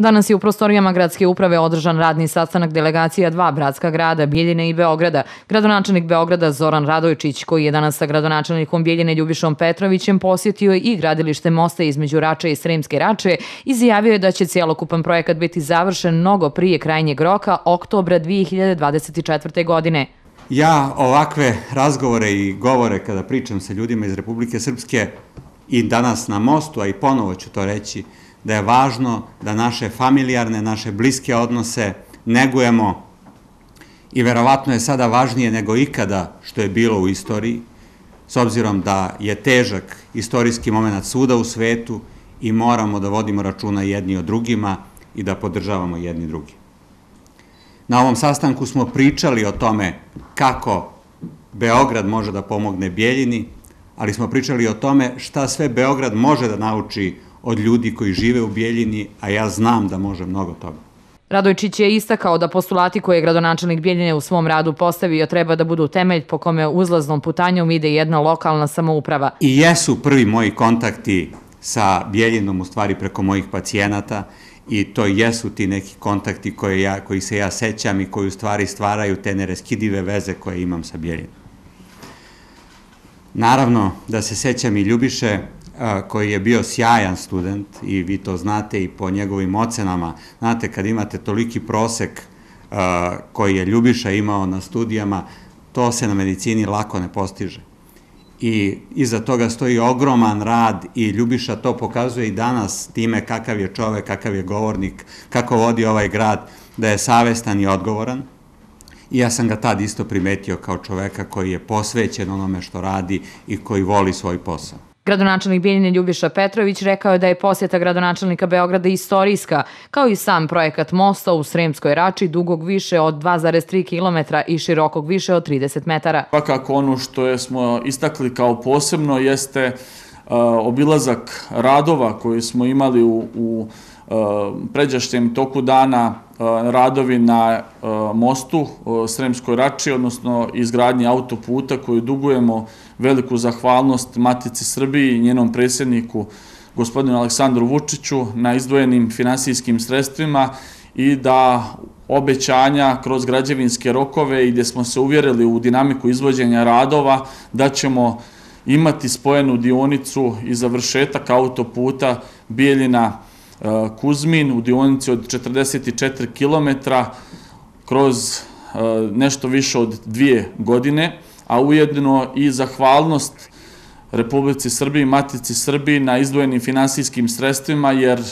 Danas je u prostorijama gradske uprave održan radni sastanak delegacija dva bratska grada, Bijeljine i Beograda. Gradonačelnik Beograda Zoran Radojčić, koji je danas sa gradonačelnikom Bijeljine Ljubišom Petrovićem posjetio i gradilište mosta između Rače i Sremske Rače, izjavio je da će cijelokupan projekat biti završen mnogo prije krajnjeg roka, oktobra 2024. godine. Ja ovakve razgovore i govore kada pričam sa ljudima iz Republike Srpske i danas na mostu, a i ponovo ću to reći, da je važno da naše familijarne, naše bliske odnose negujemo i verovatno je sada važnije nego ikada što je bilo u istoriji, s obzirom da je težak istorijski moment svuda u svetu i moramo da vodimo računa jedni o drugima i da podržavamo jedni drugi. Na ovom sastanku smo pričali o tome kako Beograd može da pomogne Bijeljini, ali smo pričali o tome šta sve Beograd može da nauči od ljudi koji žive u Bijeljini, a ja znam da može mnogo toga. Radojčić je istakao da postulati koje je gradonačelnik Bijeljine u svom radu postavio treba da budu temelj po kome uzlaznom putanjom ide jedna lokalna samouprava. I jesu prvi moji kontakti sa Bijeljinom u stvari preko mojih pacijenata i to jesu ti neki kontakti koji se ja sećam i koji u stvari stvaraju te neraskidive veze koje imam sa Bijeljinom. Naravno da se sećam i Ljubiše, koji je bio sjajan student i vi to znate i po njegovim ocenama. Znate, kad imate toliki prosek koji je Ljubiša imao na studijama, to se na medicini lako ne postiže. I iza toga stoji ogroman rad i Ljubiša to pokazuje i danas time kakav je čovek, kakav je govornik, kako vodi ovaj grad, da je savestan i odgovoran. I ja sam ga tad isto primetio kao čoveka koji je posvećen onome što radi i koji voli svoj posao. Gradonačelnik Bijeljine Ljubiša Petrović rekao je da je posjeta gradonačelnika Beograda istorijska, kao i sam projekat mosta u Sremskoj Rači dugog više od 2,3 km i širokog više od 30 metara. Svakako ono što smo istakli kao posebno jeste obilazak radova koji smo imali u pređašnjem toku dana, radovi na mostu Sremskoj Rači, odnosno izgradnji autoputa koju dugujemo veliku zahvalnost Matici Srbiji i njenom predsjedniku gospodinu Aleksandru Vučiću na izdvojenim finansijskim sredstvima i da obećanja kroz građevinske rokove i gdje smo se uvjerili u dinamiku izvođenja radova da ćemo imati spojenu dionicu i završetak autoputa Bijeljina Kuzmin u dionici od 44 km kroz nešto više od 2 godine, a ujedno i zahvalnost Republici Srbiji, Matici Srbiji na izdvojenim finansijskim sredstvima, jer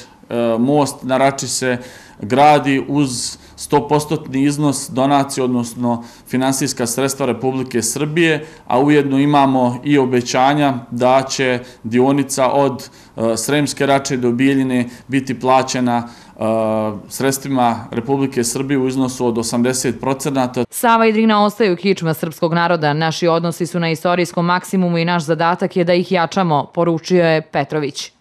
most na Rači se gradi uz 100% iznos donacije, odnosno finansijska sredstva Republike Srbije, a ujedno imamo i obećanja da će dionica od Sremske Rače do Bijeljine biti plaćena sredstvima Republike Srbije u iznosu od 80%. Sava i Drina ostaju kičma srpskog naroda. Naši odnosi su na istorijskom maksimumu i naš zadatak je da ih jačamo, poručio je Petrović.